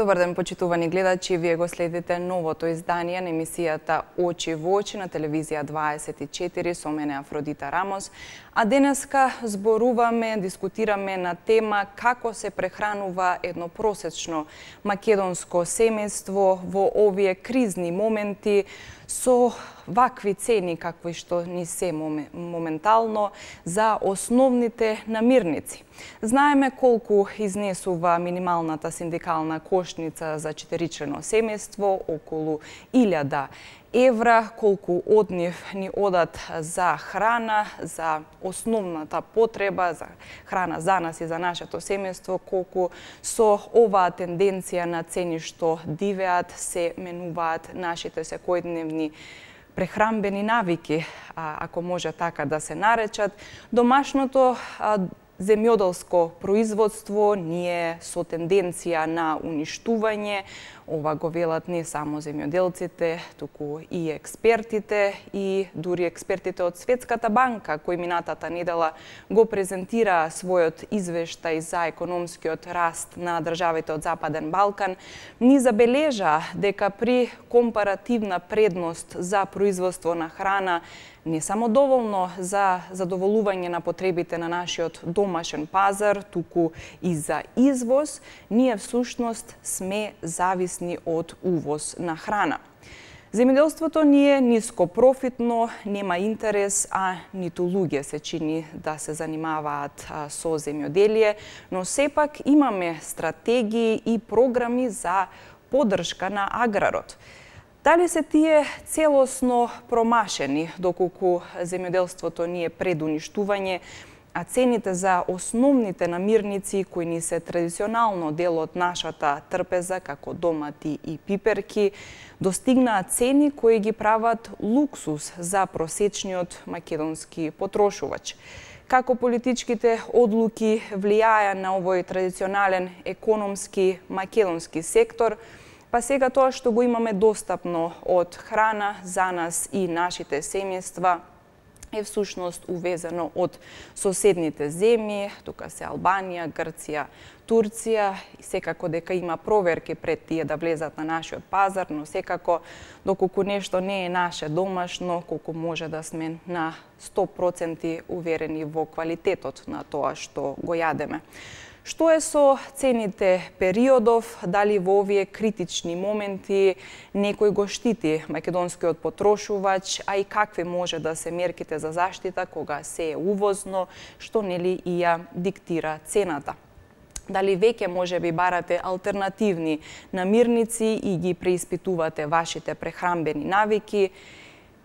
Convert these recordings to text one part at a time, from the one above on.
Добар ден, почитувани гледачи, вие го следите новото издание на емисијата Очи во очи на телевизија 24 со мене Афродита Рамос. А денеска зборуваме, дискутираме на тема како се прехранува едно просечно македонско семејство во овие кризни моменти со вакви цени какви што ни се моментално за основните намирници. Знаеме колку изнесува минималната синдикална кошница за четиричлено семејство, околу 1000 евра, колку од нив ни одат за храна, за основната потреба, за храна за нас и за нашето семејство, колку со оваа тенденција на цени што дивеат се менуваат нашите секојдневни прехранбени навики, ако може така да се наречат. Домашното земјоделско производство ние со тенденција на уништување, ова го велат не само земјоделците, туку и експертите, и дури експертите од Светската банка, кои минатата недела го презентираа својот извештај за економскиот раст на државите од Западен Балкан, ни забележа дека при компаративна предност за производство на храна не само доволно за задоволување на потребите на нашиот домашен пазар, туку и за извоз, ние всушност сме зависни од увоз на храна. Земјоделството ни е ниско профитно, нема интерес, а ниту луѓе се чини да се занимаваат со земјоделие, но сепак имаме стратегии и програми за поддршка на аграрот. Дали се тие целосно промашени, доколку земјоделството ни е пред уништување, а цените за основните намирници кои ни се традиционално дел од нашата трпеза, како домати и пиперки, достигнаат цени кои ги прават луксус за просечниот македонски потрошувач. Како политичките одлуки влијаја на овој традиционален економски македонски сектор, па сега тоа што го имаме достапно од храна за нас и нашите семејства е всушност увезено од соседните земји, тука се Албанија, Грција, Турција, и секако дека има проверки пред тие да влезат на нашиот пазар, но секако доколку нешто не е наше домашно, колку може да сме на 100% уверени во квалитетот на тоа што го јадеме. Што е со цените периодов, дали во овие критични моменти некој го штити македонскиот потрошувач, а и какви може да се мерките за заштита кога се е увозно, што нели и ја диктира цената. Дали веќе може би барате алтернативни намирници и ги преиспитувате вашите прехранбени навики,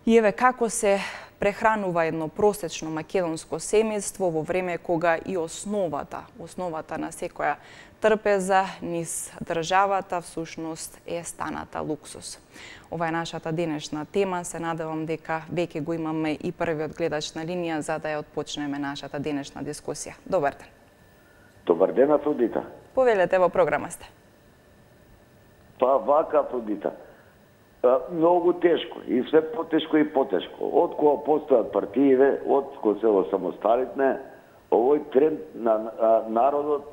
и еве како се прехранува едно просечно македонско семејство во време кога и основата на секоја трпеза низ државата всушност е станата луксус. Ова е нашата денешна тема, се надевам дека веќе го имаме и првиот гледач на линија за да ја отпочнеме нашата денешна дискусија. Добар ден. Добар ден, Афродита. Повелете, во програма сте. Па вака, Афродита. Многу тешко и све потешко и потешко. Од кога постојат партиите, од кога се осамосталитне, овој тренд на народот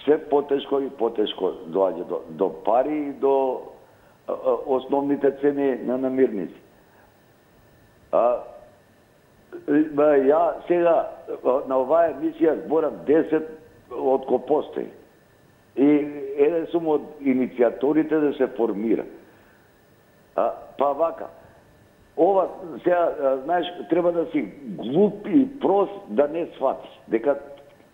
све потешко и потешко доаѓа до пари и до основните цени на намирници. Ја сега на оваа емисија зборам 10 од кога постои. И еден сум од иницијаторите да се формира. Па вака, ова сега, знаеш, треба да си глуп и прост да не сватиш дека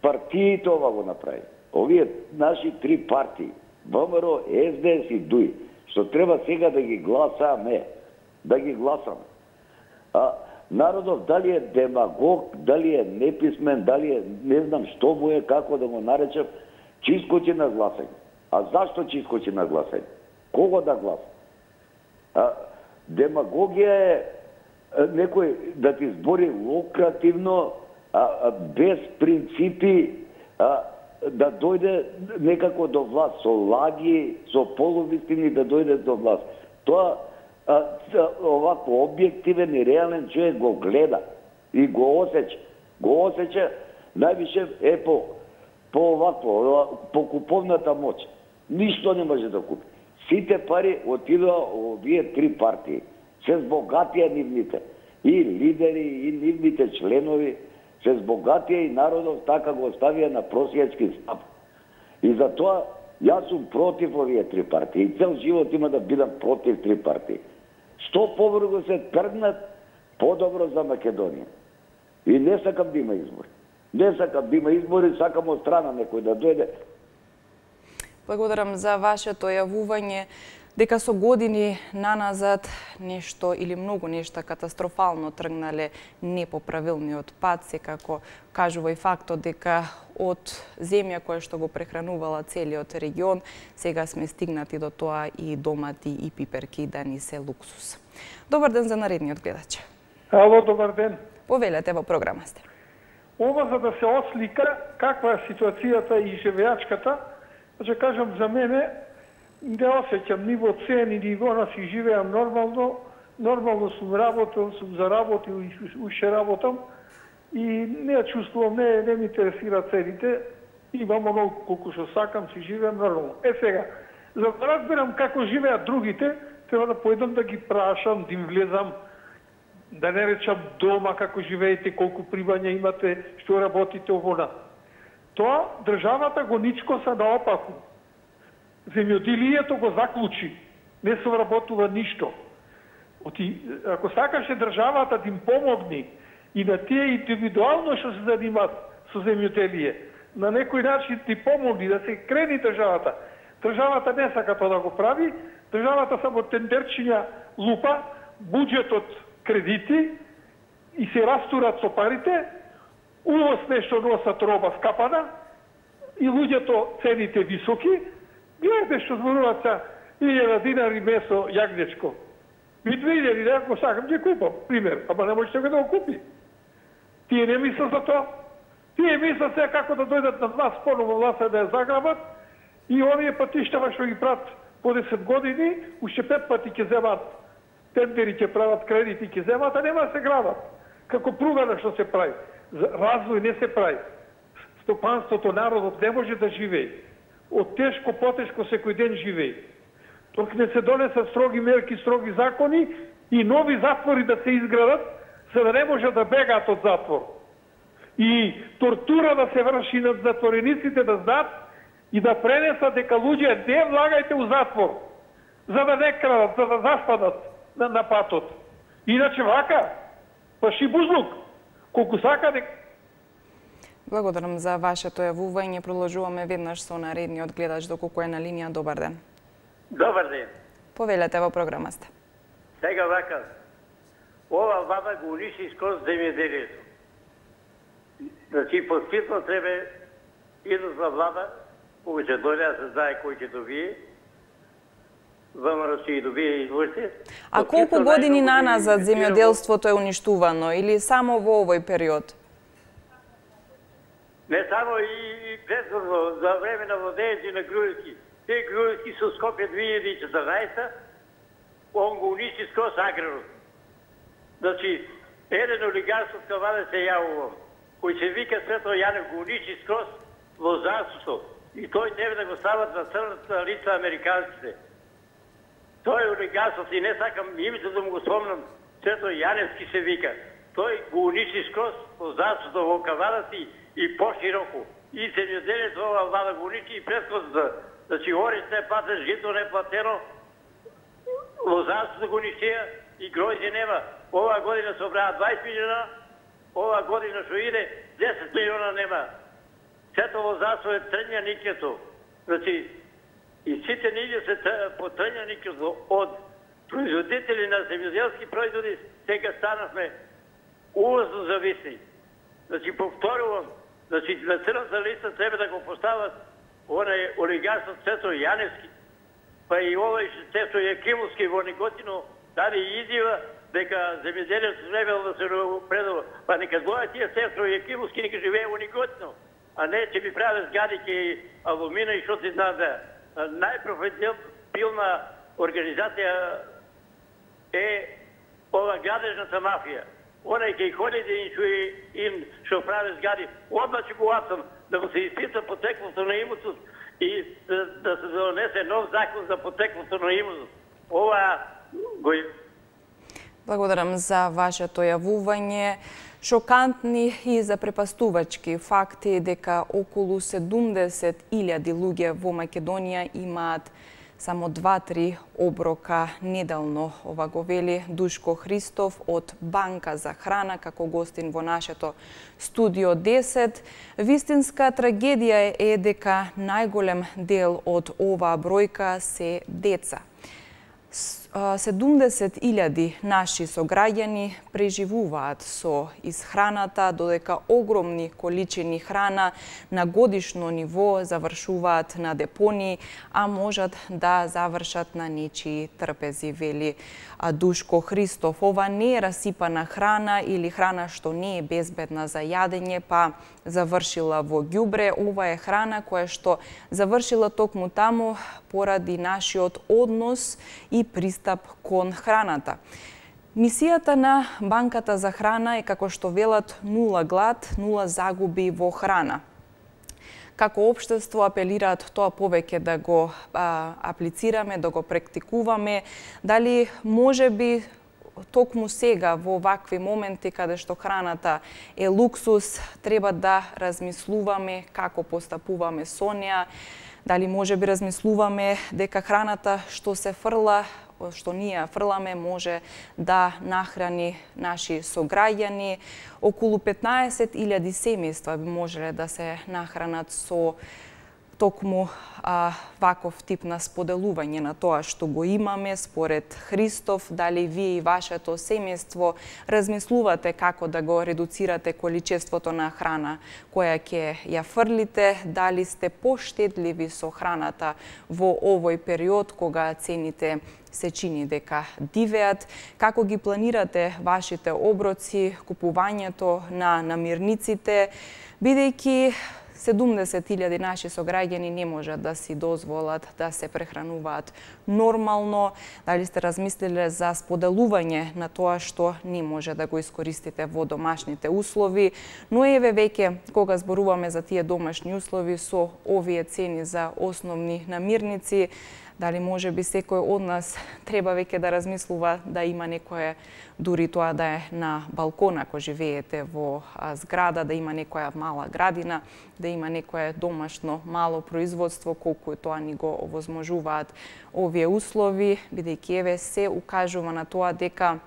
партиите ова го направи. Овие наши три партии, ВМРО, СДС и ДУИ, што треба сега да ги гласаме, Народов дали е демагог, дали е неписмен, дали е не знам што му е, како да го наречем, чискочи на гласање. А зашто чискочи на гласање? Кого да гласа? Демагогија е некој да ти збори лукративно, без принципи, да дојде некако до власт, со лаги, со полувистини да дојде до власт. Тоа овако објективен и реален човек го гледа и го осеќа. Го осеќа највише по овако, по куповната моќ. Ништо не може да купи. Сите пари отидоа овие три партии. Се збогатија нивните. И лидери, и нивните членови, се збогатија и народот така го оставија на просијачки стап. И затоа јас сум против овие три партии. И цел живот има да бидам против три партии. Што побрзо се тргнат, подобро за Македонија. И не сакам да има избори. Не сакам да има избори, сакам од страна некој да дојде. Благодарам за вашето јавување дека со години наназад нешто или многу нешта катастрофално тргнале непоправилниот пат, секако кажува и фактот дека од земја која што го прехранувала целиот регион, сега сме стигнати до тоа и домати и пиперки да ни се луксус. Добар ден за наредниот гледач. Ало, добар ден. Повелете, во програма сте. Ова за да се ослика каква е ситуацијата и живеачката, ќе кажам за мене, не осеќам ниво цен и ниво на си живеам нормално сум работил, сум заработил и уште работам и не ја чувствувам, не ми интересира цените, имам оно колку што сакам, си живеам нормално. Сега, за да разберам како живеат другите, треба да појдам да ги прашам, да им влезам, да не речам дома како живеете, колку примања имате, што работите овона. Тоа државата го ничкоса наопаку. Земјоделието го заклучи. Не се вработува ништо. Ако сакаше државата да им помогни и на тие индивидуално што се занимат со земјоделие, на некој начин ти помогни да се крени државата. Државата не сака тоа да го прави, државата само тендерчиња лупа, буџетот кредити и се растурат со парите, увоз нешто носат роба скапана и луѓето цените високи. Гледате што зборуваат са 1000 динари месо јагнечко. И 2000, да го сакам, ќе купам, пример, ама не можете да го купи. Тие не мислат за тоа. Тие мислат сега како да дојдат на власт, поново власт да ја заграбат и овие патиштава што ги прават по 10 години, уште 5 пати ќе земат тендери, ќе прават кредити, ќе земат, а нема да се градат. Како пругана што се прави. Развој не се прави. Стопанството, народот не може да живее. Од тешко, потешко секој ден живее. Док не се донесат строги мерки, строги закони и нови затвори да се изградат, за да не може да бегаат од затвор. И тортура да се врши над затворениците, да знаат и да пренесат дека луѓе не влагајте у затвор, за да не крадат, за да заспадат на патот. Иначе вака, паши бузлук, колку сака дека... Благодарам за вашето јавување. Продолжуваме веднаш со наредниот гледач доколку е на линија. Добар ден. Добар ден. Повелете, во програма сте. Сега вака, ова влада го униши скроз земјоделието. Значи, поспитно треба идната влада, кога ќе дојде да се знае кој ќе добие, ВМРО ќе добие изборите. А колку години наназад земјоделството е уништувано или само во овој период? Не само и предходно, за време на владејето на Груевски. Те Груевски со Скопје 2014, он го уништи скроз аграрот. Значи, еден олигарсот каваде се јавувам, кој се вика Свето Јанев, го уништи скроз лозарството. И тој тебе да го стават на црната лица американците. Тој олигарсот, и не сакам името да му го спомнам, Свето Јаневски се вика. Тој го уништи скроз лозарството во кавадата и пошироко. И земјоделието ова влада го уништи и претходната. Значи, ориз не платен, жито не платено, лозарството го унищија и гројзе нема. Ова година се обраа 20 милиона, ова година што иде 10 милиона нема. Сето лозарство е трњаникето. Значи, и сите ние се по трњаникето од производители на земјоделски производи, сега станавме увозно зависни. Значи, повторувам, значи, на црната листа треба да го постават онај олигарсот Цето Јаневски, па и овој Цето Јакимовски во Неготино даде изјава дека земјоделието требало да се предава. Па нека дојдат тие Цето Јакимовски, нека живее во Неготино, а не ќе ми правят згади ке алумина и што ти знам да. Најпрофитабилна организација е ова градежната мафија. Онај кај ходите им што прави згади, одма ќе го апсам да го се испита потеклото на имото и да се донесе нов закон за потеклото на имот. Ова го... Благодарам за вашето јавување. Шокантни и запрепастувачки факти дека околу 70.000 луѓе во Македонија имаат само 2-3 оброка неделно. Ова го вели Душко Христов од Банка за храна како гостин во нашето студио 10. Вистинска трагедија е дека најголем дел од оваа бројка се деца. 70.000 наши сограѓани преживуваат со исхраната, додека огромни количини храна на годишно ниво завршуваат на депонии, а можат да завршат на нечии трпези, вели Душко Христов. Ова не е расипана храна или храна што не е безбедна за јадење, па завршила во ѓубре. Ова е храна која што завршила токму таму поради нашиот однос и пристап кон храната. Мисијата на Банката за храна е, како што велат, нула глад, нула загуби во храна. Како општество апелираат тоа повеќе да го аплицираме, да го практикуваме. Дали може би токму сега во вакви моменти каде што храната е луксус, треба да размислуваме како постапуваме со неа. Дали може би размислуваме дека храната што се фрла, што ние фрламе, може да нахрани наши сограѓани. Околу 15.000 семејства би можеле да се нахранат со токму ваков тип на споделување на тоа што го имаме според Христов. Дали вие и вашето семејство размислувате како да го редуцирате количеството на храна која ќе ја фрлите? Дали сте поштедливи со храната во овој период кога цените се чини дека дивеат? Како ги планирате вашите оброци, купувањето на намирниците, бидејќи 70.000 наши сограѓани не можат да си дозволат да се прехрануваат нормално? Дали сте размислиле за споделување на тоа што не може да го искористите во домашните услови? Но еве веќе кога зборуваме за тие домашни услови со овие цени за основни намирници, дали може би секој од нас треба веќе да размислува да има некое, дури тоа да е на балкон ако живеете во зграда, да има некоја мала градина, да има некое домашно мало производство, колку тоа ни го овозможуваат овие услови, бидејќи еве се укажува на тоа дека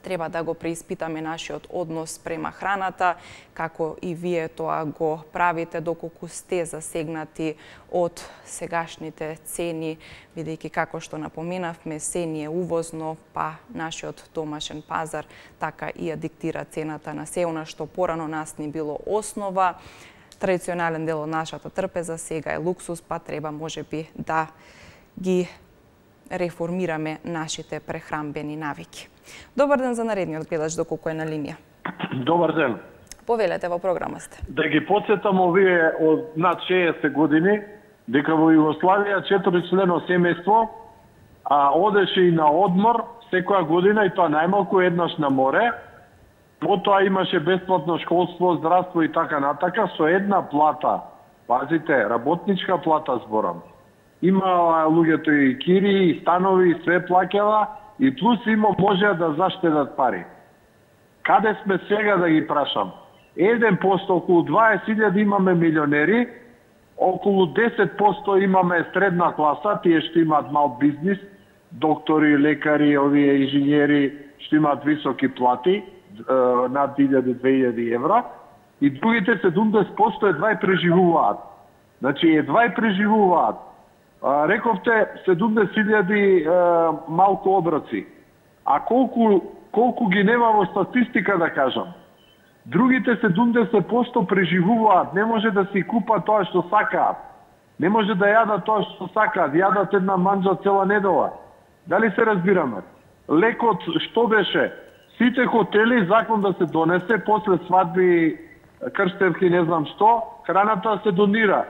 треба да го преиспитаме нашиот однос према храната, како и вие тоа го правите доколку сте засегнати од сегашните цени, бидејќи како што напоменавме, се ни е увозно, па нашиот домашен пазар така и ја диктира цената на се она што порано нас ни било основа. Традиционален дел од нашата трпеза сега е луксус, па треба можеби да ги реформираме нашите прехранбени навики. Добар ден за наредниот гледач, доколку е на линија. Добар ден. Повелете, во програма сте. Да ги подсетам овие од над 60 години, дека во Југославија 4-члено семејство одеше и на одмор секоја година, и тоа најмалку еднаш на море. Потоа имаше бесплатно школство, здравство и така натака, со една плата. Пазите, работничка плата зборам. Имаа луѓето и кири, и станови, и све плаќала, и плюс има можеа да заштедат пари. Каде сме сега, да ги прашам? 1%, околу 20.000 имаме милионери, околу 10% имаме средна класа, тие што имаат мал бизнис, доктори, лекари, овие инженери што имаат високи плати, над 1.000-2.000 евра, и другите 70% едва и преживуваат. Значи, едва и преживуваат. Рековте 70.000 малку оброци. А колку ги нема во статистика, да кажам. Другите 70% преживуваат, не може да си купат тоа што сакаат. Не може да јадат тоа што сакаат, јадат една манџа цела недела. Дали се разбираме? Лекот што беше? Сите хотели закон да се донесе после свадби, крстевки, не знам што, храната се донира.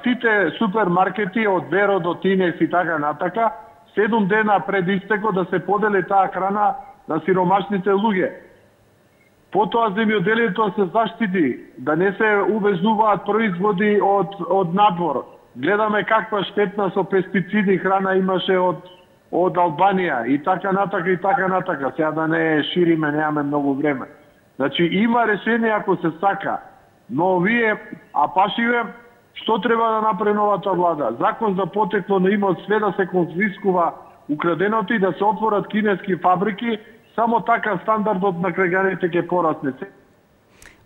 Сите супермаркети од Беро до Тинес и така натака, 7 дена пред истеко да се подели таа храна на сиромашните луѓе. Потоа земјоделието се заштити, да не се увезуваат производи од надвор. гледаме каква штетна со пестициди храна имаше од Албанија и така натака. Сега да не шириме, немаме многу време. Значи има решение ако се сака, но вие, пашиве, што треба да направи новата влада? Закон за потекло на имот, све да се конфискува украденото и да се отворат кинески фабрики, само така стандардот на граѓаните ќе порасне.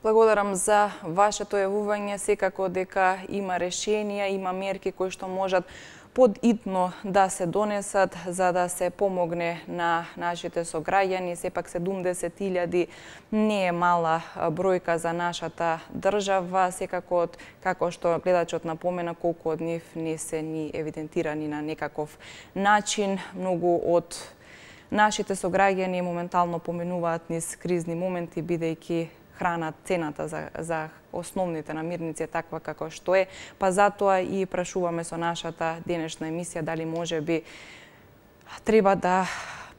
Благодарам за вашето јавување. Секако дека има решенија, има мерки кои што можат подитно да се донесат за да се помогне на нашите сограѓани. Сепак 70.000 не е мала бројка за нашата држава. Секако, како што гледачот напомена, колку од нив не се ни евидентирани на некаков начин. Многу од нашите сограѓани моментално поменуваат низ кризни моменти, бидејќи храна, цената за основните намирници е таква како што е, па затоа и прашуваме со нашата денешна емисија дали може би треба да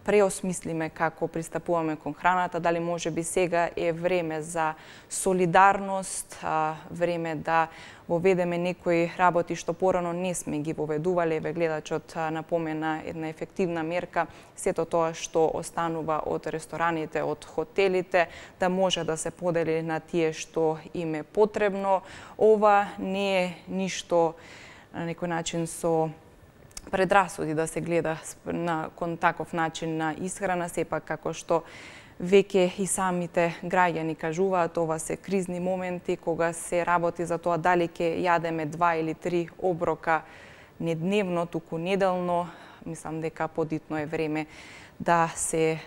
преосмислиме како пристапуваме кон храната, дали може би сега е време за солидарност, време да воведеме некои работи што порано не сме ги воведувале. Еве гледачот напомена една ефективна мерка, сето тоа што останува од рестораните, од хотелите, да може да се подели на тие што им е потребно. Ова не е ништо на некој начин со предрасуди да се гледа кон таков начин на исхрана, сепак како што веќе и самите граѓани кажуваат, ова се кризни моменти кога се работи за тоа дали ќе јадеме 2 или 3 оброка не дневно, туку неделно. Мислам дека подитно е време да се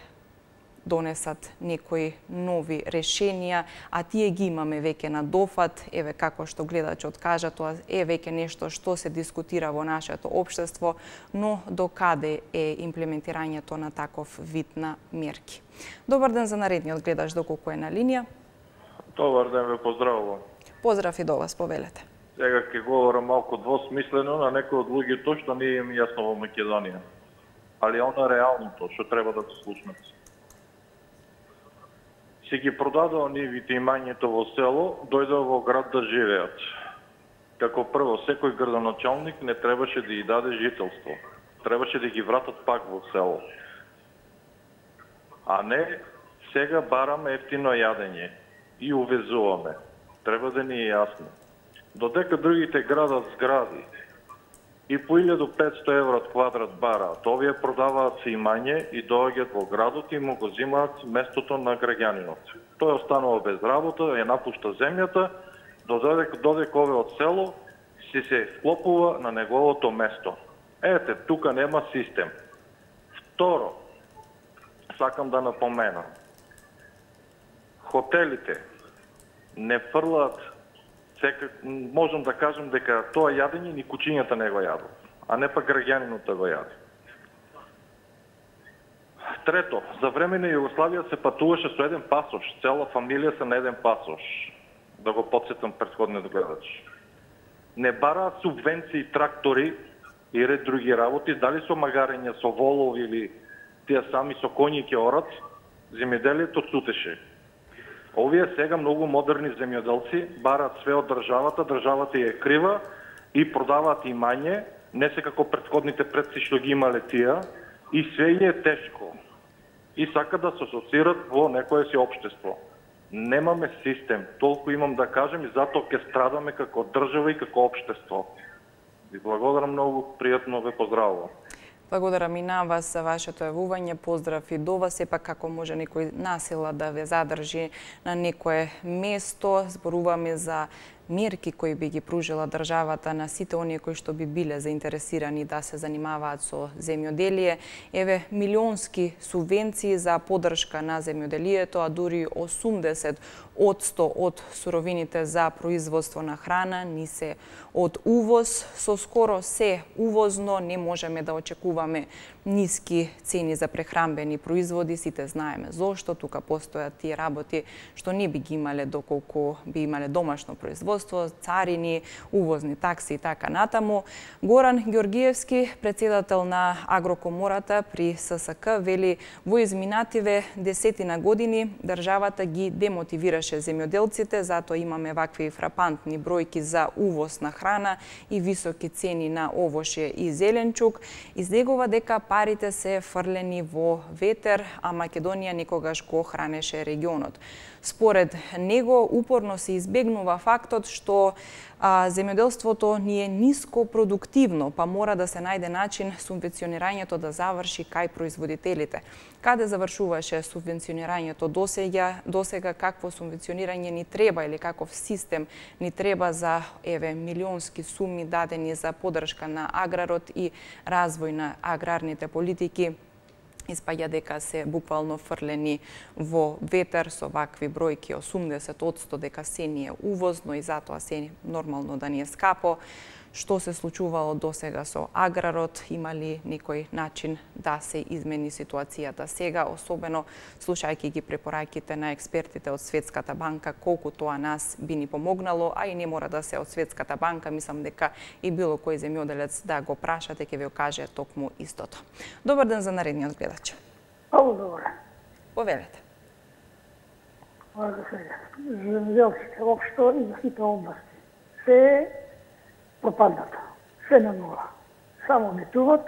донесат некои нови решенија, а тие ги имаме веќе на дофат. Еве како што гледачот кажа, тоа е веќе нешто што се дискутира во нашето општество, но до каде е имплементирањето на таков вид на мерки. Добар ден за наредниот гледач, доколку е на линија. Добар ден, ве поздравувам. Поздрав и до вас, повелете. Сега ќе говорам малку двосмислено на некои од луѓето што не им јасно во Македонија. Али она реалното што треба да се слушнат. Си ги продадоа нивите имањето во село, дојдоа во град да живеат. Како прво, секој градоначалник не требаше да ја даде жителство. Требаше да ги вратат пак во село. А не сега бараме ефтино јадење и увезуваме. Треба да ни е јасно. Додека другите градат згради и по 1500 евро од квадрат бараат, овие продаваат се имање и доаѓаат во градот и му го зимаат местото на граѓанинот. Тој останува без работа, ја напушта земјата, додека ове од село си се вклопува на неговото место. Ете, тука нема систем. Второ, сакам да напоменам, хотелите не фрлаат. Можам да кажам дека тоа јадење ни кучињата не го јадат, а не па граѓанинот да го јаде. Трето, за време на Југославија се патуваше со еден пасош, цела фамилија се на еден пасош. Да го подсетам претходниот гледач. Не бараат субвенции, трактори и ред други работи, дали со магарење, со волови или тие сами со коњи ќе орат, земјоделието цутеше. Овие сега многу модерни земјоделци бараат све од државата, државата ја е крива и продаваат имање, не се како претходните предци што ги имале тие, и све е тешко. И сакат да се асоцират во некое си општество. Немаме систем, толку имам да кажем и затоа ќе страдаме како држава и како општество. Ви благодарам многу, пријатно ве поздравувам. Благодарам и на вас за вашето јавување. Поздрав и до вас. Сепак како може некој насила да ве задржи на некое место. Зборуваме за мерки кои би ги пружила државата на сите оние кои што би биле заинтересирани да се занимаваат со земјоделие. Еве милионски субвенции за поддршка на земјоделието, а дури 80% од суровините за производство на храна ни се од увоз. Со скоро се увозно не можеме да очекуваме ниски цени за прехранбени производи. Сите знаеме зошто. Тука постојат тие работи што не би ги имале доколку би имале домашно производство. земјоделство, царини, увозни такси и така натаму. Горан Ѓоргиевски, председател на Агрокомората при ССК, вели во изминативе десетина години државата ги демотивираше земјоделците, затоа имаме вакви фрапантни бројки за увоз на храна и високи цени на овошје и зеленчук. Излегува дека парите се фрлени во ветер, а Македонија никогаш го хранеше регионот. Според него, упорно се избегнува фактот што земјоделството ни е ниско продуктивно, па мора да се најде начин субвенционирањето да заврши кај производителите. Каде завршуваше субвенционирањето досега, какво субвенционирање ни треба или каков систем ни треба за милионски суми дадени за поддршка на аграрот и развој на аграрните политики, испаѓа дека се буквално фрлени во ветер со вакви бројки 80% дека се ни е увозно и затоа се нормално да ни е скапо. Што се случувало досега со аграрот, има ли некој начин да се измени ситуацијата сега, особено слушајќи ги препораќите на експертите од Светската банка, колку тоа нас би ни помогнало, а и не мора да се од Светската банка, мислам дека и било кој земјоделец да го прашате, ќе ви каже токму истото. Добар ден за наредниот гледач. Ало, добре. Повелете. Земјоделците, општо и за сите области, се пропадната, се на нула. Само метуват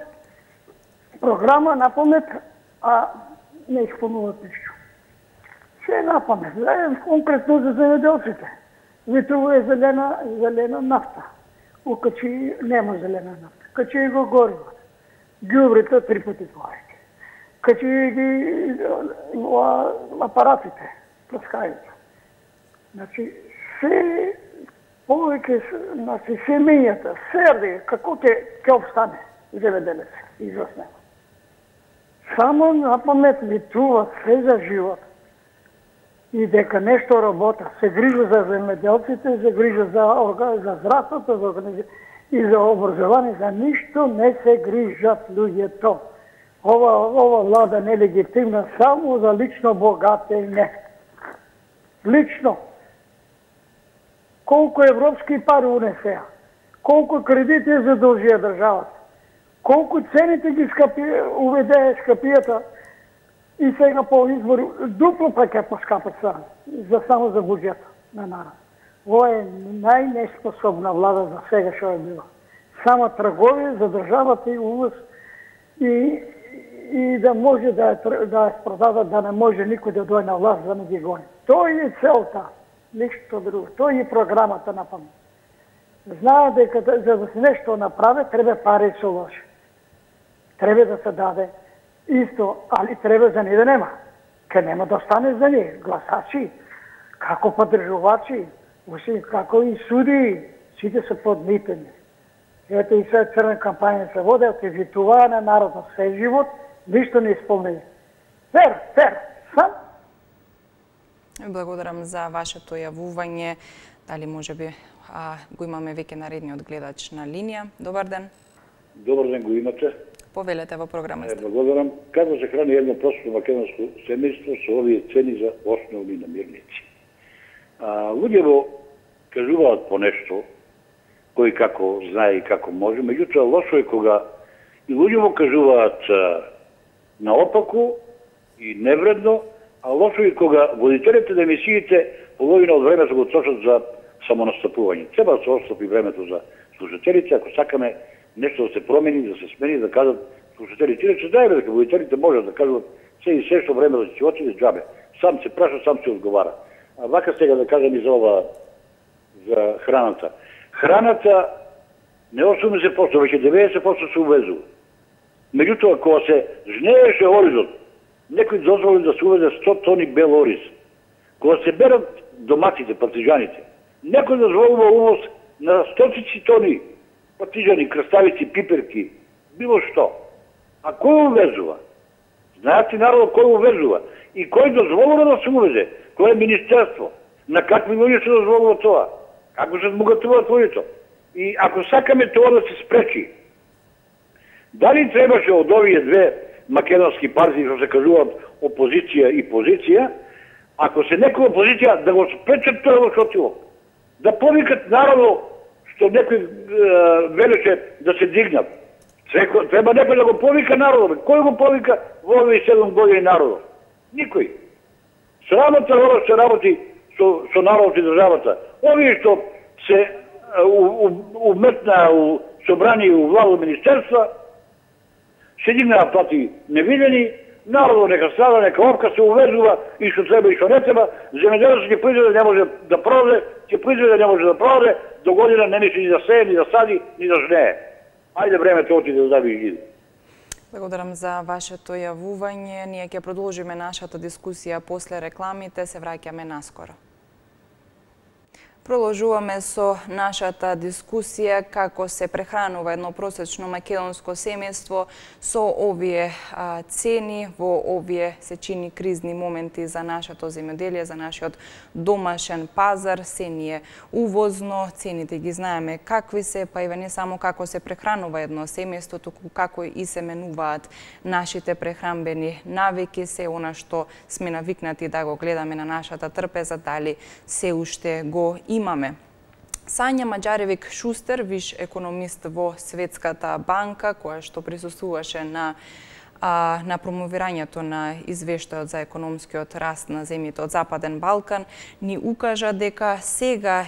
програма на памет, а не исполнуват ништо. Се на памет. Конкретно за земјоделците. Ветрува зелена нафта. Окачи нема зелена нафта. Качи го гориво. Ѓубрите 3 пати повеќе. Качи ги апаратите, плескајите. Значи, се повеќе, значи, семењата, серди, како ќе обстане земјоделец изоснема. Само на памет ветруват се за живот и дека нешто работа, се грижа за земјоделците, се грижа за здравството, и за образование, за ништо не се грижат луѓето. Ова влада нелегитимна само за лично богатење. Лично. Колку европски пари унесеа, колку кредити задолжија државата, колку цените ги уведее скапијата и сега по избори дупло па ќе поскапат само за буџет на народ. Ова е најнеспособна влада за сега што е била. Само тргови за државата и увоз и да може да ја продадат, да не може никој да дојде на власт да не ги гони. Тоа е целта. Ништо друго. Тоа е програмата на памет. Знаат дека за да се нешто направи, треба пари со лоши. Треба да се даде исто, али треба за не да нема. Ке нема да остане за не. Гласачи, како поддржувачи, како и суди, сите се подмитени. Ето и сега црна кампања се води, активитуваа на народот се живот, ништо не исполнени. Фер, сам. Благодарам за вашето јавување. Дали можеби го имаме веќе наредниот гледач на линија. Добар ден. Добар ден, го имате. Повелете во програмата. Благодарам. Како се храни едно просто македонско семејство со овие цени за основни намирници? Луѓето кажуваат по нешто, кој како знае и како може, меѓутоа лошо е кога и луѓето кажуваат наопаку и невредно, а лошо е кога водителите на емисиите половина од време се го трошат за самонастапување. Треба да се отстапи времето за слушателите, ако сакаме нешто да се промени, да се смени, да кажат слушателите. Иначе знаеме дека водителите можат да кажат се што време да ќе отиде џабе. Сам се праша, сам се одговара. А вака сега да кажам и за храната. Храната не 80%, веќе 90% се увезува. Меѓутоа, кога се жнееше оризот, некој дозволи да се увезе 100 тони бел ориз. Кога се берат доматите, партизаните, некој дозволува увоз на стотици тони партизани, краставици, пиперки, било што. А кој увезува? Знаете народот кој увезува? И кој дозволува да се увезе? Кој е министерство? На какви луѓе се дозволува тоа? Како се збогатуваат луѓето? И ако сакаме тоа да се спречи, дали требаше од овие две македонски партии, што се кажуваат опозиција и позиција, ако се некоја опозиција да го спречат тоа во шотило, Да повикат народо, што некој велеше да се дигнат. Треба некој да го повика народо. Кој го повика во овие 7 години народо? Никој. Срамота ова се работи со народот и државата. Овие што се уметна у собрани и у владо министерства, се дигнаа плати невидени, народот нека страда, нека овка се увезува и што треба и што не треба, земјоделецот ќе произведе не може да продаде, ќе произведе не може да продаде, до година не мисли ни да сее, ни да сади, ни да жнее. Ајде времето отиде да ви ги. Благодарам за вашето јавување. Ние ќе продолжиме нашата дискусија после рекламите, се враќаме наскоро. Продолжуваме со нашата дискусија како се прехранува едно просечно македонско семејство со овие цени во овие се чини кризни моменти за нашето земјоделие, за нашиот домашен пазар. Се ние увозно, цените ги знаеме какви се, па и не само како се прехранува едно семејство, туку како и се менуваат нашите прехранбени навики, се она што сме навикнати да го гледаме на нашата трпеза, дали се уште го имаме. Сања Маџаревик-Шустер, виш економист во Светската банка, која што присуствуваше на промовирањето на извештајот за економскиот раст на земјите од Западен Балкан, ни укажа дека сега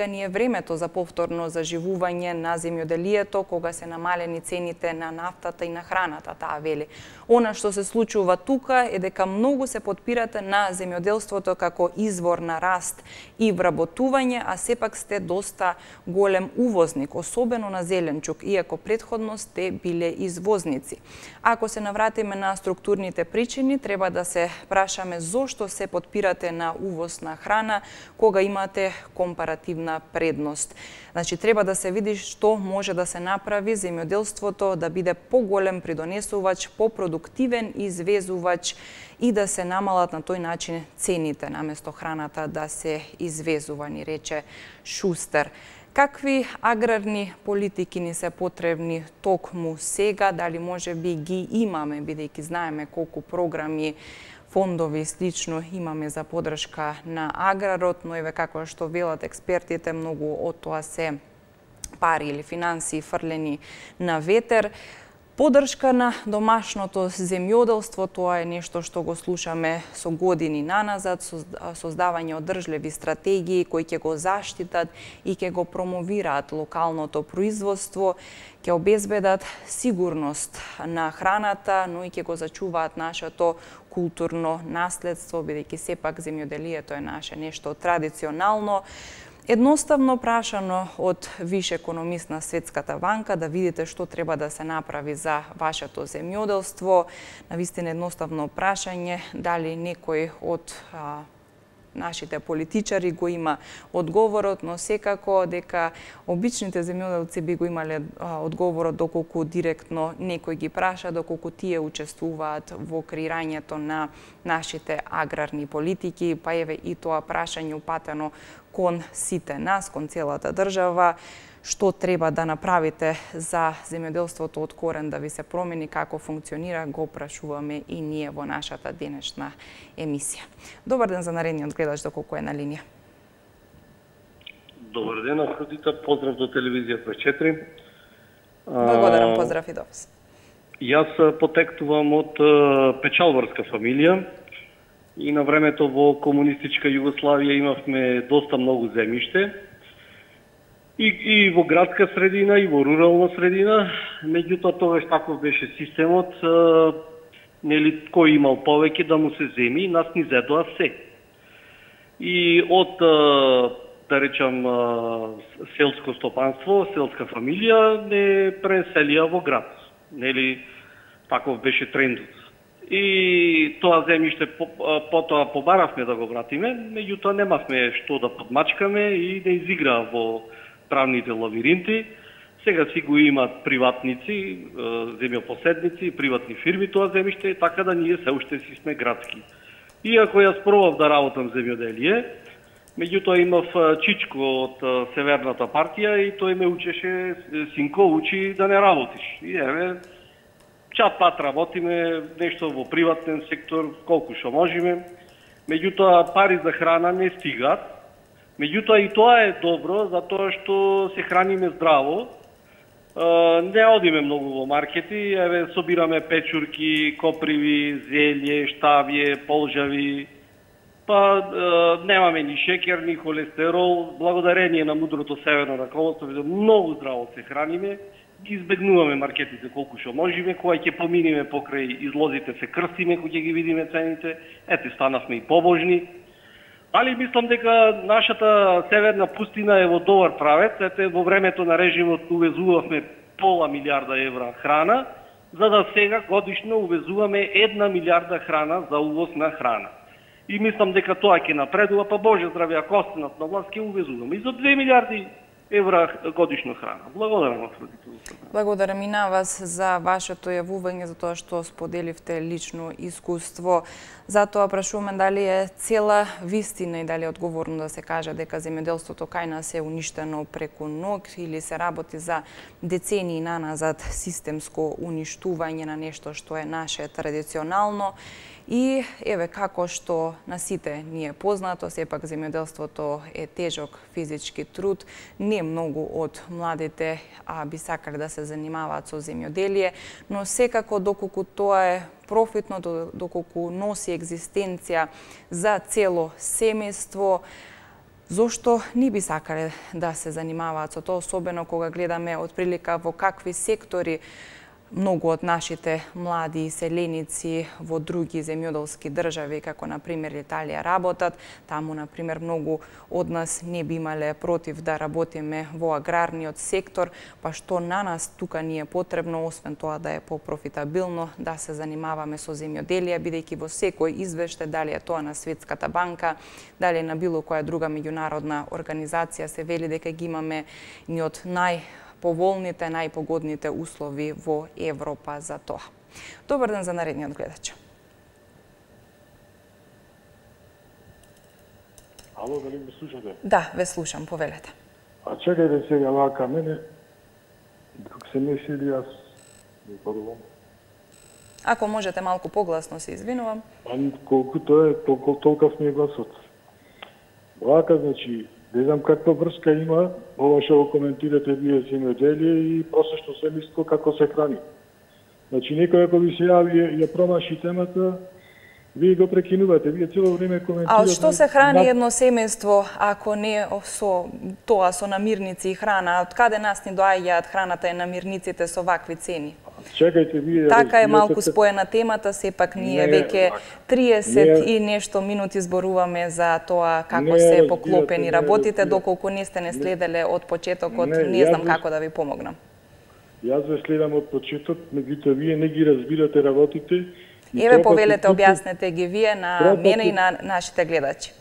ни е времето за повторно заживување на земјоделието, кога се намалени цените на нафтата и на храната, таа вели. Она што се случува тука е дека многу се подпирате на земјоделството како извор на раст и вработување, а сепак сте доста голем увозник, особено на зеленчук, иако претходно сте биле извозници. Ако се навратиме на структурните причини, треба да се прашаме зошто се подпирате на увоз на храна кога имате компаративна предност. Значи, треба да се види што може да се направи земјоделството да биде поголем придонесувач, попродуктивен извезувач и да се намалат на тој начин цените, наместо храната да се извезува, ни рече Шустер. Какви аграрни политики ни се потребни токму сега, дали може би ги имаме, бидејќи знаеме колку програми, фондови и слично имаме за подршка на аграрот, но еве како што велат експертите, многу од тоа се пари или финансии фрлени на ветер. Подршка на домашното земјоделство, тоа е нешто што го слушаме со години наназад, создавање одржливи стратегии кои ќе го заштитат и ќе го промовираат локалното производство, ќе обезбедат сигурност на храната, но и ќе го зачуваат нашето културно наследство, бидејќи сепак земјоделието е наше нешто традиционално. Едноставно прашано од виш економист на Светската банка да видите што треба да се направи за вашето земјоделство. Навистина едноставно прашање, дали некој од нашите политичари го има одговорот, но секако дека обичните земјоделци би го имале одговорот доколку директно некој ги праша, доколку тие учествуваат во креирањето на нашите аграрни политики, па еве и тоа прашање упатено кон сите нас, кон целата држава, што треба да направите за земјоделството од корен да ви се промени, како функционира, го прашуваме и ние во нашата денешна емисија. Добар ден за наредниот гледач, доколку е на линија. Добар ден, Афродита, поздрав до телевизија 24. Благодарам, поздрав и до вас. Јас потекнувам од печалбарска фамилија и на времето во комунистичка Југославија имавме доста многу земјиште. И во градска средина, и во рурална средина, меѓутоа тогаш таков беше системот, нели кој имал повеќе да му се земи, нас ни зедоа се. И од, да речам, селско стопанство, селска фамилија, не преселија во град. Нели, таков беше трендот. И тоа земјиште потоа побаравме да го вратиме, меѓутоа немавме што да подмачкаме и да изиграа во правните лавиринти. Сега си го имаат приватници, земјопоседници, приватни фирми тоа земјиште, така да ние се уште си сме градски. Иако јас пробав да работам земјоделие, меѓутоа имав чичко од Северната партија и тој ме учеше, синко, учи да не работиш. И еве, чат-пат работиме, нешто во приватен сектор, колку што можеме. Меѓутоа пари за храна не стигаат. Меѓутоа и тоа е добро, затоа што се храниме здраво. Не одиме многу во маркети, еве собираме печурки, коприви, зелје, штавје, полжави, па немаме ни шекер, ни холестерол, благодарение на мудрото северно раководство, многу здраво се храниме, ги избегнуваме маркетите колку што можеме, кога ќе поминиме покрај излозите се крстиме, кога ќе ги видиме цените, ете станавме и побожни. Али мислам дека нашата северна пустина е во добар правец. Ете, во времето на режимот увезувавме пола милиарда евра храна, за да сега годишно увезуваме 1 милиарда храна за увоз на храна. И мислам дека тоа ќе напредува, па Боже здраве, ако останат на власт, ќе увезуваме и за 2 милиарди евра годишно храна. Благодарам, Афродита. Благодарам и на вас за вашето јавување, за тоа што споделивте лично искуство. Затоа прашуваме дали е цела вистина и дали е одговорно да се каже дека земјоделството кај нас е уништено преку ног или се работи за децении наназад системско уништување на нешто што е наше традиционално. И еве како што на сите ни е познато, сепак земјоделството е тежок физички труд. Не многу од младите би сакале да се занимаваат со земјоделие, но секако доколку тоа е профитно, доколку носи екзистенција за цело семејство, зошто не би сакале да се занимаваат со тоа, особено кога гледаме отприлика во какви сектори многу од нашите млади селеници во други земјоделски држави, како например Италија, работат. Таму, например, многу од нас не би имале против да работиме во аграрниот сектор, па што на нас тука ни е потребно, освен тоа да е попрофитабилно, да се занимаваме со земјоделие, бидејќи во секој извештај, дали е тоа на Светската банка, дали на било која друга меѓународна организација, се вели дека ги имаме ни од поволните, најпогодните услови во Европа за тоа. Добар ден за наредниот гледач. Ало, дали ме слушате? Да, ве слушам, повелете. А чекајте сега вака мене, док се мислили јас не порувам. Ако можете малку погласно, се извинувам. Колкото е, толков ми е гласот. Вака, значи, не знам каква врска има ова што го коментирате вие земјоделие и просечно семејство како се храни. Значи некој ако ви се јави ја промаши темата, вие го прекинувате, вие цело време коментирате. А од што се храни едно семејство ако не со тоа со намирници и храна? Од каде нас ни доаѓаат храната и намирниците со вакви цени? Чекајте, вие така е малку споена темата, сепак ние веќе 30 и нешто минути зборуваме за тоа како се поклопени работите, доколку не сте не следеле од почетокот, не знам како да ви помогнам. Јас ве следам од почеток, меѓутоа вие не ги разбирате работите. Еве повелете, објаснете ги вие на мене и на нашите гледачи.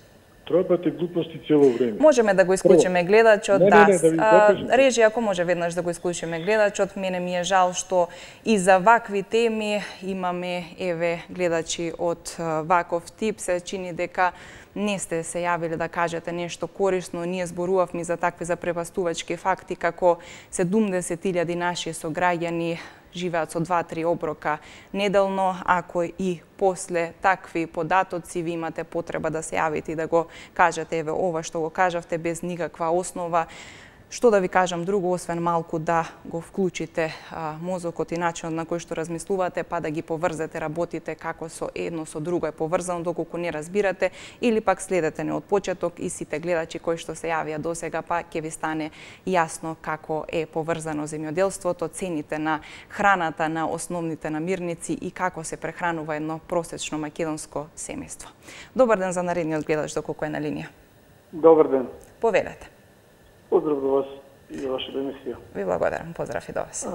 Тропате глупости цело време. Можеме да го исклучиме гледачот, да. Режи, ако може веднаш да го исклучиме гледачот, мене ми е жал што и за вакви теми имаме еве гледачи од ваков тип, се чини дека не сте се јавиле да кажете нешто корисно. Ние зборувавме за такви запрепастувачки факти како 70.000 наши сограѓани живеат со 2-3 оброка неделно. Ако и после такви податоци ви имате потреба да се јавите и да го кажете еве ова што го кажавте без никаква основа, што да ви кажам друго, освен малку да го вклучите мозокот и начинот на кој што размислувате, па да ги поврзете работите како со едно со друго е поврзано, доколку не разбирате, или пак следете не од почеток и сите гледачи кои што се јавија досега, па ќе ви стане јасно како е поврзано земјоделството, цените на храната, на основните намирници и како се прехранува едно просечно македонско семејство. Добар ден за наредниот гледач, доколку е на линија. Добар ден. Повелете. Поздрав до вас и за вашата емисија. Ви благодарам, поздрав и до вас.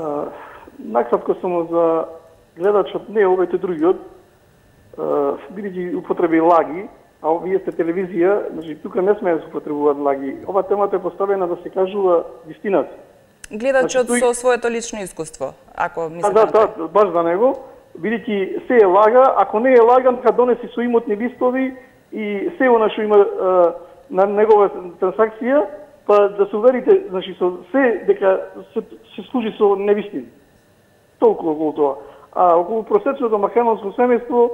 Накратко само за гледачот, не овојте другиот, бидејќи употреби лаги, а вие сте телевизија, значи тука не сме да се употребуваат лаги. Ова темата е поставена да се кажува вистината. Гледачот со своето лично искуство, ако мислите. Да, баш за него, бидејќи се е лага, ако не е лага, нека донеси со имотни листови и се она што има на негова трансакција, па да се уверите, значи со се дека се служи со невистини. Толку околу тоа. А околу просечното македонско семејство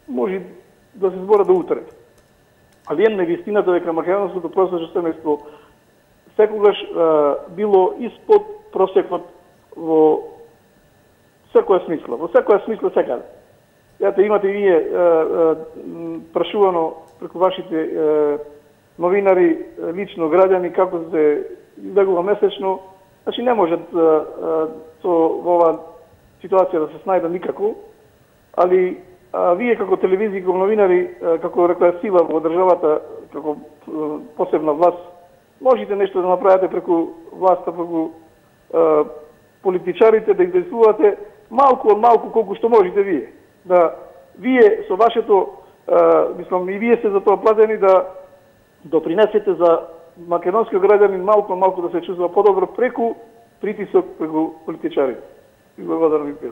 може да се збора до утре. али една вистината дека македонското просечно семејство секогаш било испод просекот во секоја смисла, секаде. Имате и вие прашувано преку вашите новинари, лично граѓани, како се избегува месечно. Значи не можат во оваа ситуација да се снајдат никако, али вие како телевизија, како новинари, како рекреатива во државата, како посебна власт, можете нешто да направите преку власта, преку политичарите, да издействувате малку од малку колку што можете вие. Да вие со вашето, мислам и вие сте за тоа платени да допринесете за македонски граѓани малку да се чувствува подобро преку притисок преку политичарите. Благодарам ви.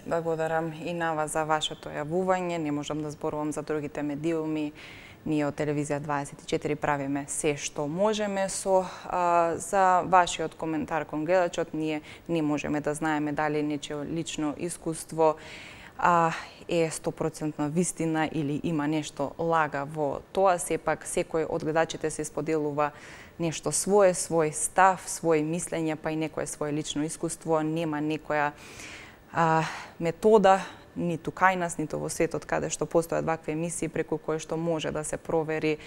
Благодарам и на вас за вашето јавување. Не можам да зборувам за другите медиуми. Ние од Телевизија 24 правиме се што можеме за вашиот коментар кон гледачот. Ние не можеме да знаеме дали нечие лично искуство е 100% вистина или има нешто лага во тоа. Сепак секој од гледачите се споделува нешто свое, свој став, свој мислење, па и некое свое лично искуство. Нема некоја метода ниту кај нас, ниту во светот каде што постојат вакви емисии преку кои што може да се провери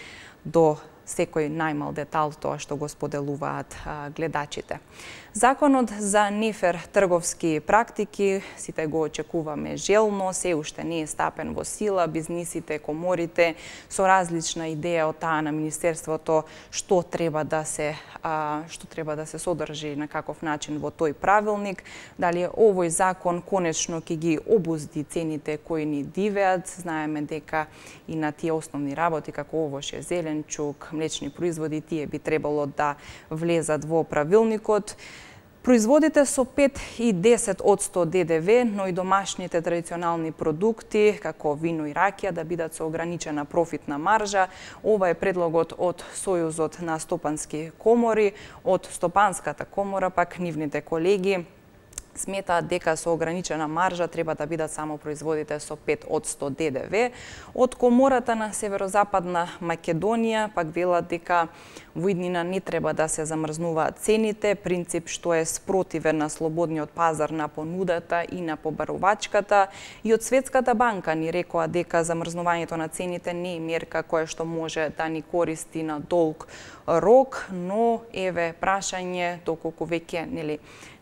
до секој најмал детал тоа што го споделуваат гледачите. Законот за нефер трговски практики, сите го очекуваме желно, се уште не е стапен во сила, бизнисите, коморите со различна идеја од таа на Министерството што треба да се содржи на каков начин во тој правилник. Дали овој закон конечно ќе ги обузди цените кои ни дивеат. Знаеме дека и на тие основни работи како овош, зеленчук, млечни производи, тие би требало да влезат во правилникот. Производите со 5 и 10% ДДВ, но и домашните традиционални продукти, како вино и ракија, да бидат со ограничена профитна маржа. Ова е предлогот од Сојузот на стопански комори, од Стопанската комора, пак нивните колеги сметаат дека со ограничена маржа треба да бидат само производите со 5% ДДВ. Од Комората на Северозападна Македонија пак велат дека во иднина не треба да се замрзнуваат цените, принцип што е спротивен на слободниот пазар на понудата и на побарувачката. И од Светската банка ни рекоа дека замрзнувањето на цените не е мерка која што може да ни користи на долг рок, но еве прашање доколку веќе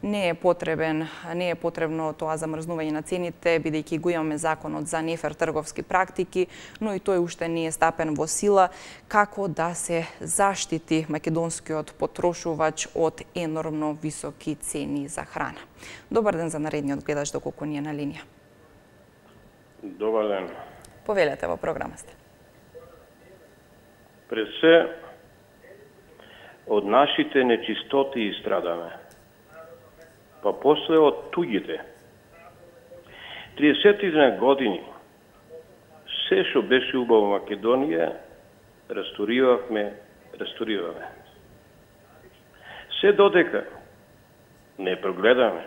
не е потребно тоа замрзнување на цените, бидејќи го имаме законот за нефер трговски практики, но и тој уште не е стапен во сила. Како да се заштити македонскиот потрошувач од енормно високи цени за храна? Добар ден за наредниот гледач, доколку ни е на линија. Добар ден. Повелете во програма сте. Пред се, од нашите нечистоти страдаме, па после од туѓите. 30 години се што беше убаво во Македонија, рестауrirаме. Се додека не прогледаме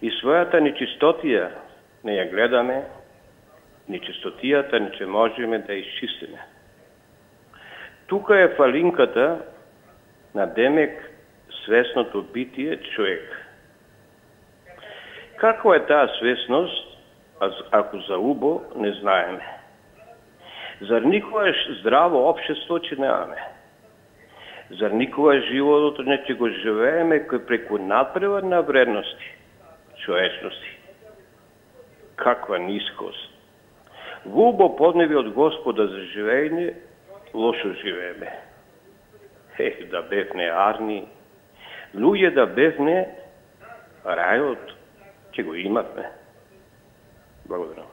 и својата нечистотија не ја гледаме, нечистотијата не ќе можеме да исчистиме. Тука е фалинката на демек свесното битие човек. Каква е таа свесност, ако за убо не знаеме? Зар никогаш здраво општество ќе немаме? Зар никогаш животот не ќе го живееме кој преку надпревар на вредности, човечности? Каква нискост! Во убо подневи од Господа за живење, лошо живееме. Да бевне арни, луѓе да бевне, рајот ќе го имавме. Благодарам.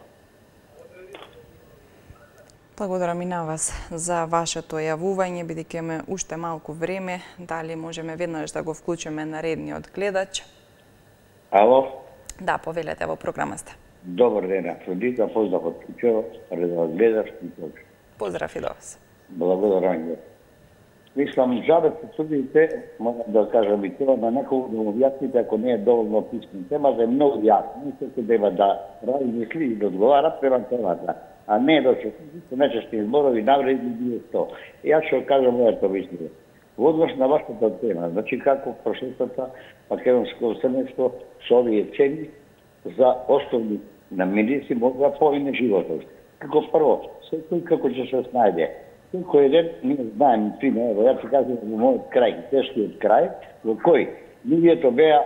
Благодарам и на вас за вашето јавување, бидејќи имаме уште малку време. Дали можеме веднаш да го вклучиме наредниот гледач? Ало? Да, повелете, во програма сте. Добар ден, Афродита, поздрав од Кучево, редовно гледаш и тоа. Поздрав и до вас. Благодарам. Мислам, жабе се судите, можам да кажам и тоа, на некој да објасните ако не е доволно писмен. Темата е многу јасна, и се треба да размисли и да одговара према темата. а не да се нечестни зборови навредни било што. Јас ќе кажам моето мислење. Во однос на вашата тема, значи како прошетата македонско семејство со овие цени за основни намирници може да помине животот. Како прво, секој како ќе се снајде. Секој ден ние знаем, пример, јас ќе кажам во мојот крај, тешкиот крај, во кој луѓето беа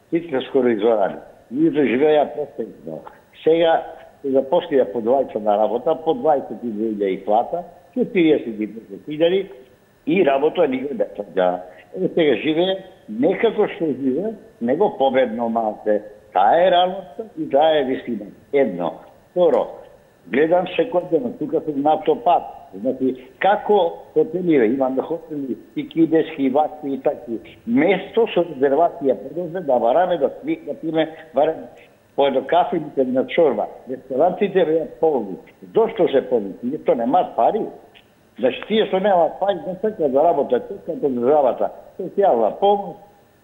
сите скоро изорани. Луѓето живееа престепно. Сега се запослија по 20 на работа, по 22.000 плата, 45.000 и работа никој не саѓа. Сега живее не како што живее, него победно малце. Таа е реалноста и таа е вистина. Едно. Второ, гледам секој ден, тука сум на автопат. Значи, како хотеливе, имаме хотели и кидешки, и вакви и такви. Место со резервација продолжи да бараме да пиме барем по едно кафе или една чорба. Ресторанците беа полни. Зошто се полни? Тие немаат пари. Значи, тие што немаат пари не сакаат да работат, сакаат од државата. Социјална помош,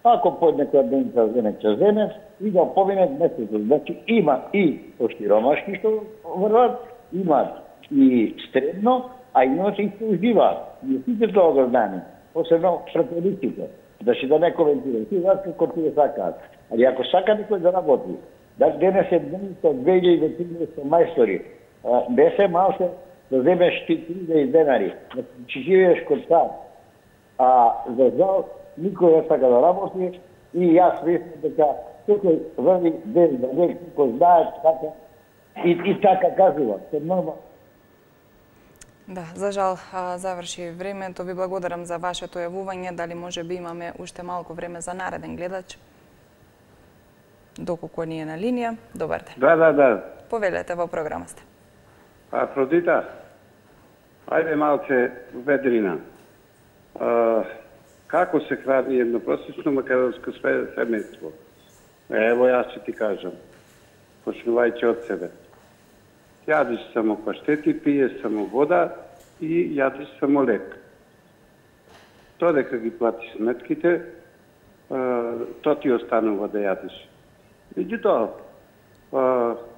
ако по некоја денца земе ќе земе, и да помине месецот. Значи, има и оширомашки што врват, имаат и средно, а имаат и што уживаат. И сите тоа го знаеме. Посебно фрателиците. Значи, да не коментирам. Ти знаат како тие сакаат. Али ако сака некој да работи, да денес е дневница од 2000 до 3000 мајстори, не се малце да земеш 3000 денари, да живееш код сад. А за жал, никој не сака да работи и јас мислам дека секој врви ден за ден, кој знаат така и така кажува. Се нормално. Да, за жал заврши времето. Ви благодарам за вашето јавување. Дали може би имаме уште малку време за нареден гледач? Доколку ни е на линија. Добар ден. Да. Повелете, во програма сте. Афродита, ајде малце ведрина. Како се храни едно просечно македонско семејство? Ево јас ќе ти кажам, почнувајќи од себе. Јадиш само паштети, пиеш само вода и јадиш само лек. Тоа дека ги платиш сметките, тоа ти останува да јадиш. Меѓутоа,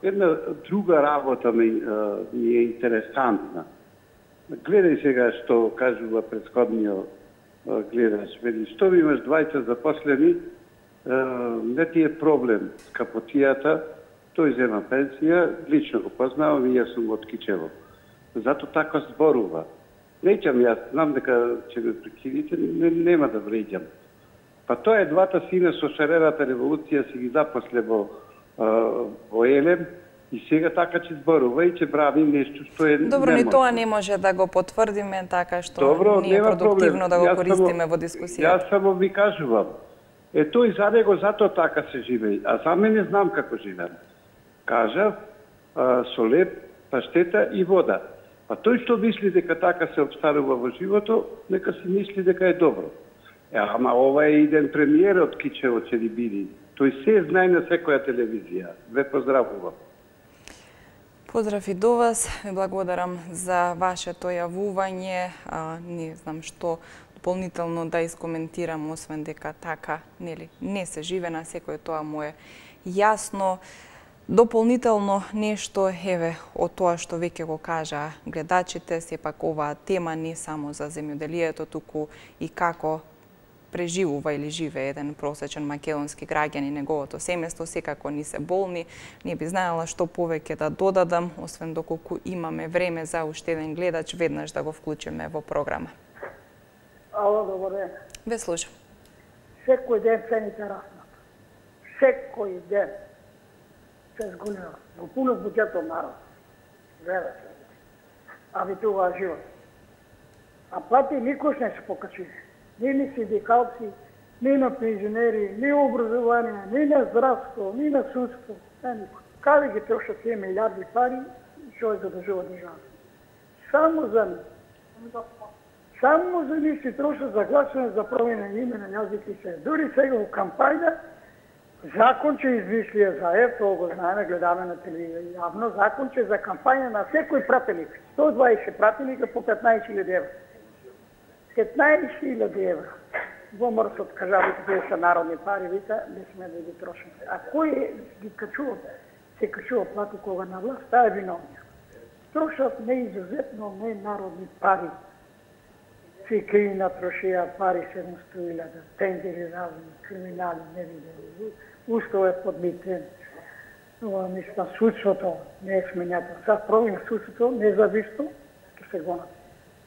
една друга работа ми е интересантна. Гледај сега што кажува претходниот гледач. Вели, што ми имаш 20 запослени, не ти е проблем с капотијата, тој зема пенсија, лично го познавам и јас сум од Кичево. Зато така зборува. Неќам јас, знам дека ќе ме прекинете, нема да вреѓам. Па тоа е двата сина со шарената револуција си ги запосле во Елем и сега така ќе зборува и ќе прави нешто што е Добро, ни тоа не може да го потврдиме, така што не е продуктивно да го користиме во дискусија. Јас само ви кажувам. Тој за него затоа така се живее, а за мене знам како живеам. Кажав, со леп, паштета и вода. А тој што мисли дека така се обстарува во живото, нека си мисли дека е добро. Ама ова е иден премиер од Кичево ќе ли биде. Тој се знае на секоја телевизија. Ве поздравувам. Поздрав и до вас. Ви благодарам за вашето јавување. Не знам што дополнително да искоментирам, освен дека така не се живе, на секој тоа му е јасно. Дополнително нешто, еве, од тоа што веќе го кажа гледачите, сепак оваа тема не само за земјоделието, туку и како преживува или живее еден просечен македонски граѓанин, неговото семејство, секако ни се болни. Не би знаела што повеќе да додадам, освен доколку имаме време за уште еден гледач, веднаш да го вклучиме во програма. Ало, добар ден. Ве слушам. Секој ден цените раснат. Секој ден се зголема. Го пунат буџетот народ. Гледате. А ви тоа живот. А плати никош не се покачи. Ни на синдикалци, ни на пензионери, ни образование, ни на здравство, ни на судство. Никој. Каде ги трошат тие милиарди пари, што е задржува државата? Само за нив се трошат за гласување за промена име на јазик и се. Дури сега во кампања, закон че измислија за тоа го знаеме, гледаме на телевизија јавно, закон че за кампања на секој пратеник, 120 пратеника по 15.000 евра. 15.000 евра. Во мрсот, кажавите, тие са народни пари, вика, не сме да ги трошиме. А кој ги качува, се качува плати кога на власт, таа е виновник. трошат неизузетно ненародни пари. Цикина трошија пари 700.000, тендери разни, криминали, невидени. Устав е подмитен. Мислам, судството не е сменято. Сад промена судството независно, ќе се гонат.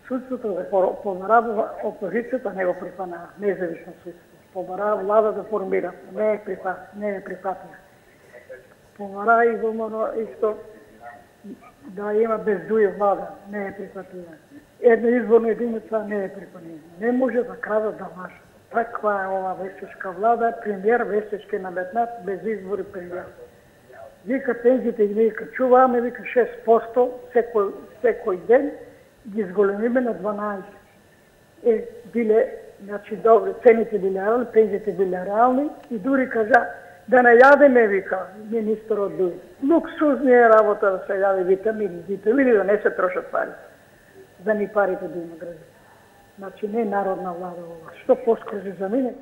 Судството да помарава опозицијата, не го припана независно судство. Помарава влада да формира, не е припатна. Помара и вомано исто да има бездује влада, не е припатлива. Една изборна единица не е припатлива. Не може да крадат да лажат. Таква е ова вестечка влада, премиер вестечки наметнат, без избори премиер. Вика пензите ги вика, чуваме, вика 6% секој ден, ги изголемиме на 12. Биле, значи, добре, цените биле реални, пензите биле реални и дури кажа, да не јадеме, вика министерот Дуј. Луксузни е работа да се јаде витамини, да не се трошат пари. Да ни парите да има граѓани. Значи не народна влада ова. Што поскоро за мене?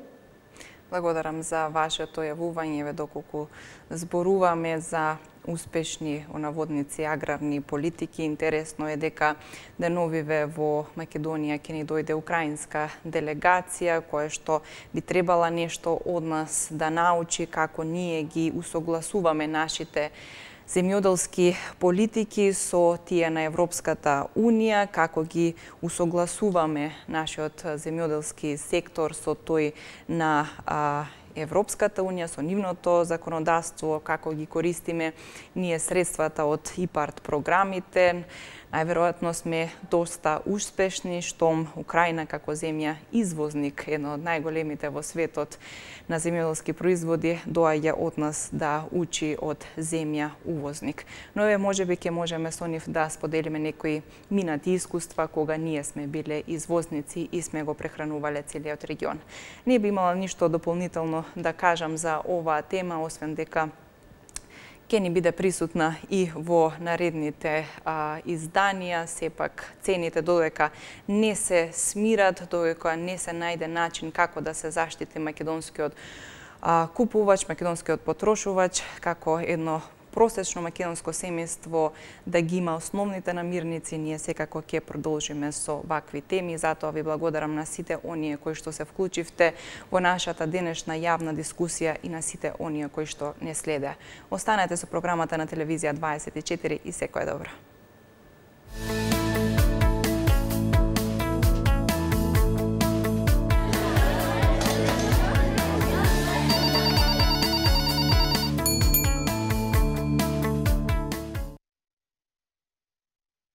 Благодарам за вашето јавување, доколку зборуваме за успешни онаводници аграрни политики. Интересно е дека деновиве во Македонија ќе ни дојде украинска делегација која што би требала нешто од нас да научи како ние ги усогласуваме нашите земјоделски политики со тие на Европската Унија, како ги усогласуваме нашиот земјоделски сектор со тој на Европската Унија, со нивното законодавство, како ги користиме ние средствата од ИПАРД програмите. Најверојатно сме доста успешни, штом Украина како земја извозник, едно од најголемите во светот на земјоделски производи, доаѓа од нас да учи од земја увозник. Но еве можеби ќе можеме со нив да споделиме некои минати искуства кога ние сме биле извозници и сме го прехранувале целиот регион. Не би имала ништо дополнително да кажам за оваа тема, освен дека ќе ни биде присутна и во наредните изданија. Сепак цените додека не се смират, додека не се најде начин како да се заштити македонскиот купувач, македонскиот потрошувач, како едно просечно македонско семејство да ги има основните намирници, ние секако ќе продолжиме со вакви теми. Затоа ви благодарам на сите оние кои што се вклучивте во нашата денешна јавна дискусија и на сите оние кои што не следе. Останете со програмата на телевизија 24 и секое добро.